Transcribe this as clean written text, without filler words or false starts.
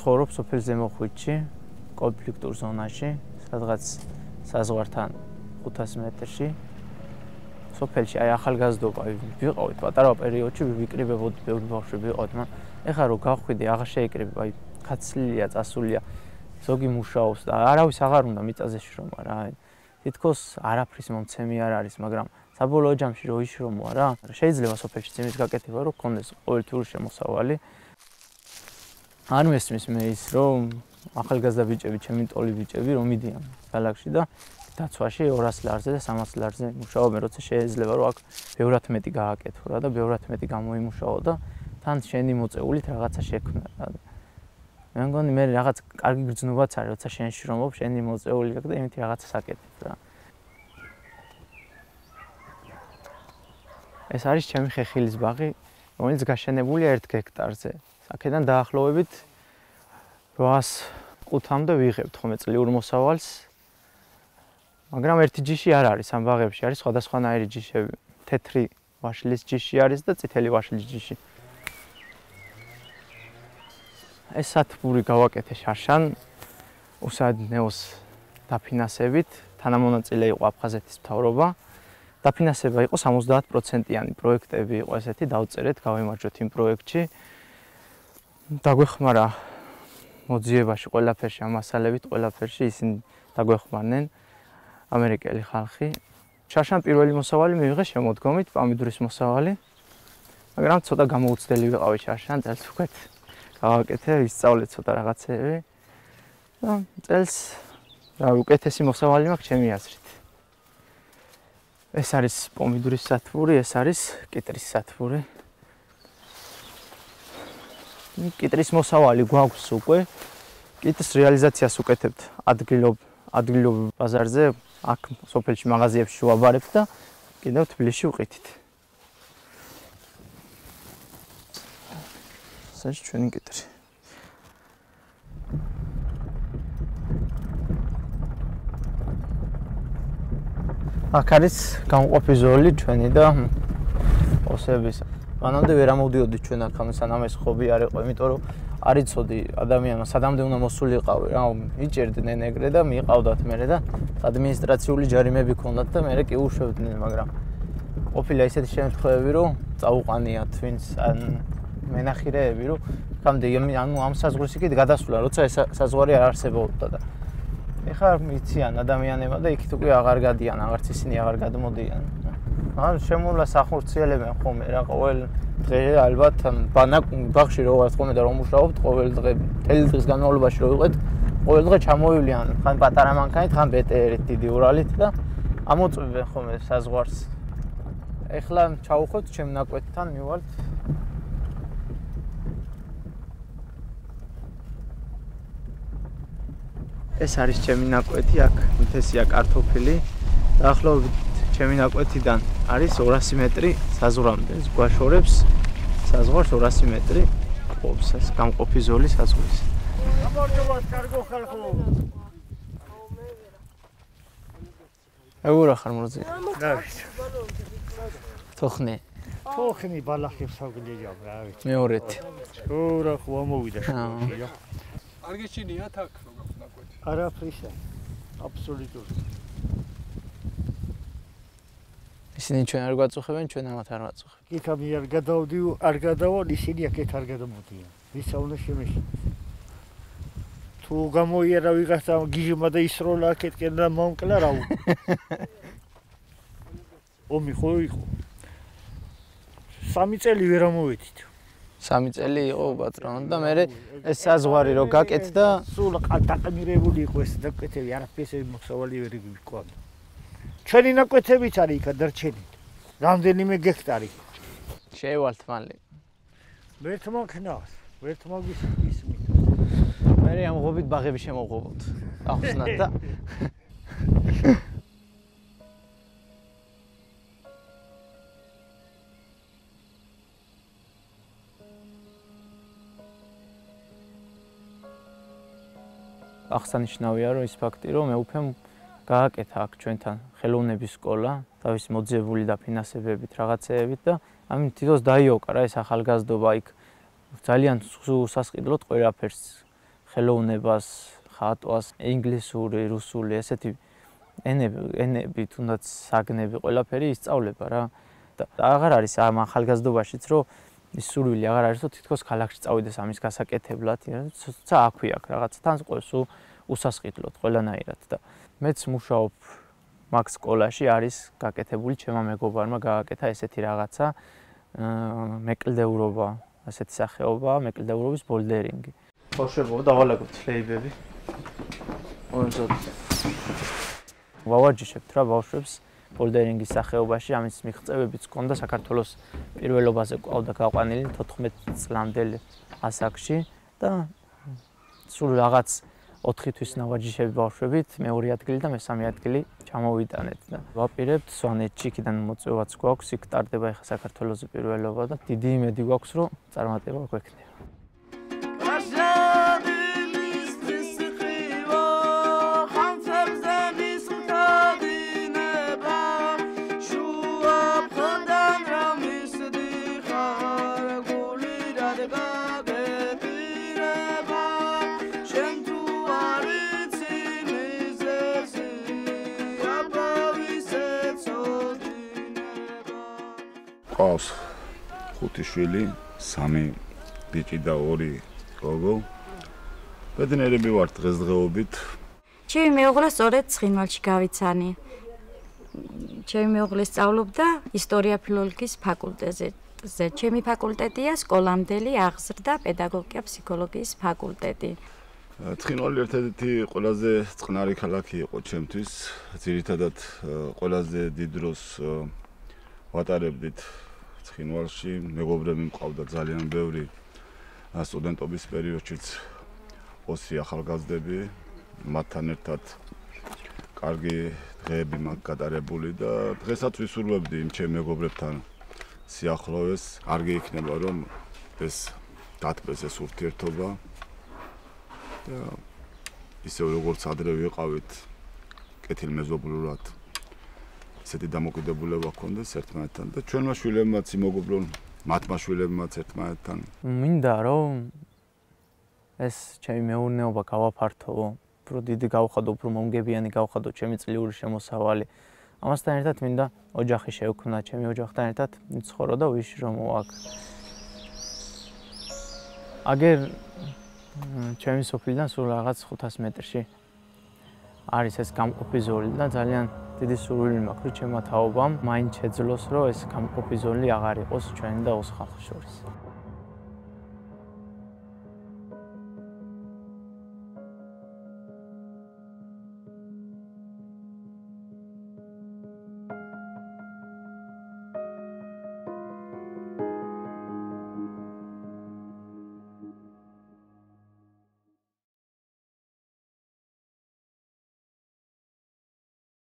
ცხოვრობ სოფელ ზემოხვიტში, კონფლიქტურ ზონაში, სადღაც საზღვართან 500 მეტრში. სოფელში აი ახალგაზრდობა ვიყავით პატარა პერიოდში, ვიკრიბებოდი ბევრი ბავშვები ვიყავით, მაგრამ ეხლა რო გავხვიდე, აღარ შეიკრიბება, აი კაცლია, წასულია, ზოგი მუშაობს და არავის აღარ უნდა მიწაზე შრომა რა. თითქოს არაფრის მომცემი არ არის, მაგრამ საბოლოო ჯამში რო იშრომოა რა, შეიძლება სოფელში იმის გაკეთება, რომ გქონდეს ყოველთვიური შემოსავალი. არ მესმის მე ის, რომ ახალგაზრდა ბიჭები, ჩემი ტოლი ბიჭები რომ მიდიან ქალაქში და დაცვაში 200 ლარზე და 300 ლარზე მუშაობენ, როცა შეიძლება რომ აქ ბევრად მეტი გააკეთო რა და ბევრად მეტი გამოიმუშაო და თან შენი მოწეულით რაღაცა შექმნა რა. მე მგონი მე რაღაც კარგი გრძნობაც არის, როცა შენ შრომობ, შენი მოწეული და იმითი რაღაცას აკეთებ რა. ეს არის ჩემი ხეხილის ბაღი, რომელიც გაშენებულია 1 ჰექტარზე. აქედან დაახლოებით 805-მდე ვიღებთ ხოლმე წლიურ მოსავალს. მაგრამ ერთი ჯიში არ არის ამ ბაღებში, არის სხვადასხვანაირი ჯიშები. თეთრი ვაშლის ჯიში არის და წითელი ვაშლის ჯიში. ეს სათბური გავაკეთე შარშან უსადნეოს დაფინანსებით, თანამონაწილე იყო აფხაზეთის მთავრობა. დაფინანსება იყო 70%-იანი პროექტები იყო ესეთი, დავწერეთ, გავიმარჯვეთ იმ პროექტში. დაგვეხმარა მოძიებაში ყველაფერში, ამ მასალებით ყველაფერში ისინი დაგვეხმარნენ ამერიკელი ხალხი. შარშან პირველი მოსავალი მივიღე შემოდგომით, პამიდურის მოსავალი. მაგრამ ცოტა გამოუცდელი ვიყავი შარშან, წელს უკვე გავაკეთე, ვისწავლე ცოტა რაღაცები. და წელს რა უკეთესი მოსავალი მაქვს ჩემი აზრით. ეს არის პომიდურის სათბური, ეს არის კიტრის სათბური. კიტრის მოსავალი გვაქვს უკვე. კიტრის რეალიზაციას უკეთებთ ადგილობ ბაზარზე, აქ სოფელში მაღაზიებში ვაბარებთ და კიდევ თბილისში ვყიდით. ეს ჩვენი კიტრი. აქ არის გამყოფი ზოლი ჩვენი და ოსების. მანამდე ვერ ამოვდიოდი ჩვენ აქ, სანამ ეს ხობი არ იყო, იმიტომ რომ არ იცოდი ადამიანმა სადამდე უნდა მოსულიყავი რა, იჭერდნენ ეგრე და მიყავდათ მერე და ადმინისტრაციული ჯარიმები ქონდათ და მერე კი უშვებდნენ, მაგრამ ყოფილა ისეთი შემთხვევები, რომ წაუყანიათ ვინც მენახირეები, რომ ხამდე ამ საზღვრის იქით გადასვლა, როცა ეს საზღვარი არ არსებობდა და ეხლა მიციან ადამიანებმა და იქით უკვე აღარ გადიან, აღარც ისინი აღარ გადმოდიან. ან შემოვლა სახორციელებენ ხოლმე რა, ყოველ დღე ალბათ ბაღში რო ვართ ხოლმე და რომ მუშაობთ, ყოველ დღე მთელი დღის განმავლობაში რო ვიყეთ, ყოველ დღე ჩამოვივლიან ხან პატარა მანქანით, ხან ბეტერით, დიდი ურალით და ამოწმებენ ხოლმე საზღვარს. ეხლა ჩავუხვევთ ჩემ ნაკვეთთან მივალთ. ეს არის ჩემი ნაკვეთი, აქ მთესია კარტოფილი. დაახლოებით ჩემი ნაკვეთიდან არის 200 მეტრი საზღვრამდე. ეს გვაშორებს საზღვარს 200 მეტრი ყოფს ეს გამყოფი ზოლი საზღვრის. გამარჯობა, კარგო ხალხო. ეურა ხარ მორზი. დავით. თოხნი ბალახებს საგლეჯავ რა ვიცი. მეორეთ. ურა ხო ამოვიდა შეგია. კარგი ჩინია თაკ როგორ ნაკვეთი. არაფრისა. აბსოლუტურად. ისინი ჩვენ არ გვაწუხებენ, ჩვენ ამათ არ ვაწუხებთ. იქამი არ გადავალ, ისინი აქეთ არ გადამოდიან. ვისა უნდა შემეშინდეს. თუ გამოიერა ვიღაცა გიჟმა და ისროლა აქეთკენ და მომკლა რა უნდა. ომი ხო იყო. 3 წელი ვერ ამოვედით. 3 წელი იყო პატრონო და მე ეს საზღვარი რო გაკეთდა, სულ დაყმირებული იყო ეს ნაკვეთები, არაფერს მოსავალი ვერ გიყვანდა. ჩვენი ნაკვეთებიც არის იქ დარჩენილი. რამდენიმე გექტარი. შეევალთ მალე. ვერთმა ქნას, ვერთმა ისმით. მე ამ ღობით ბაღები შემოვღობოთ. ახსნათ და აღსანიშნავია რომ ის ფაქტი რომ მე უფემ გააკეთა აქ ჩვენთან ხელოვნების სკოლა, თავისი მოძიებული დაფინანსებებით, რაღაცეებით და ამით თვითონ დაიოკარა ეს ახალგაზრდობა იქ ძალიან სასყიდლოდ ყველაფერს ხელოვნებას, ხატვას, ინგლისური, რუსული, ესეთი ენები, თუნდაც საგნები, ყველაფერი ისწავლება რა. და აღარ არის ამ ახალგაზრდობაშიც, რომ ის სურვილი აღარ არის, რომ თითქოს ქალაქში წავიდეს ამის გასაკეთებლად, თუმცა აქვე აქ რაღაცა თან ყოს უსასყიდლოდ ყველანაირად და მეც მუშაობ მაგ სკოლაში არის გაკეთებული ჩემმა მეგობარმა გააკეთა ესეთი რაღაცა მეკლდეურობა, ასეთი სახეობა, მეკლდეურობის ბოლდერინგი. ბავშვებო, დავალაგოთ ფლეიბები. ონზოდ. ვავარჯიშებთ რა ბავშვებს ბოლდერინგის სახეობაში, ამის მიღწევებიც ჰქონდა საქართველოს პირველობაზე ყავდა გაყვანილი 14 წლამდელი ასაკში და სულ რაღაც 4 თვის ნავარჯიშები ბავშვებით, მეორე ადგილი და მესამე ადგილი ჩამოვიტანეთ და ვაპირებთ სვანეთში, იქიდან მოწვევაც გვაქვს, იქ ტარდება ახლა საქართველოს პირველობა და დიდი იმედი გვაქვს, რომ წარმატება გვექნება. ყავს 5 შვილი, 3 ბიჭი და 2 გოგო. ბედნიერები ვართ დღესდღეობით. ჩემი მეუღლე სწორედ ცხინვალში გავიცანი. ჩემი მეუღლე სწავლობდა ისტორია ფილოლოგიის ფაკულტეტზე. ჩემი ფაკულტეტია სკოლამდელი აღზრდა პედაგოგიკა ფსიქოლოგიის ფაკულტეტი. ცხინვალი ერთ-ერთი ყველაზე წყნარი ქალაქი იყო ჩემთვის. ძირითადად ყველაზე დიდ დროს ვატარებდით ცხინვალში, მეგობრები მყავდა ძალიან ბევრი. სტუდენტობის პერიოდშიც 20 ახალგაზრდები, მათთან ერთად კარგი დღეები მაქვს გატარებული და დღესაც ვისურვებდი იმ ჩემ მეგობრებთან სიახლოვეს. კარგი იქნება რომ ეს დათბეს ეს ურთიერთობა და ისევ როგორც ადრე ვიყავით კეთილმეზობლურად ესეთი დამოკიდებულება ჰქონდეს ერთმანეთთან და ჩვენმა შვილებმაც იმოგობრონ მათმა შვილებმაც ერთმანეთთან. მინდა რომ ეს ჩემი მეურნეობა გავაფართო, უფრო დიდი გავხადო, უფრო მომგებიანი გავხადო ჩემი წლიური შემოსავალი. ამასთან ერთად მინდა ოჯახი შევქმნა, ჩემი ოჯახთან ერთად ვიცხოვრო და ვიშირო მოაქ. აგერ ჩემი სოფლიდან სულ რაღაც 500 მეტრში არის ეს გამყოფი ზოლი და ძალიან დიდი სურვილი მაქვს, რომ ჩემმა თაობამ მაინც შეძლოს, რომ ეს გამყოფი ზოლი აღარ იყოს ჩვენი და ოს ხალხის შორის.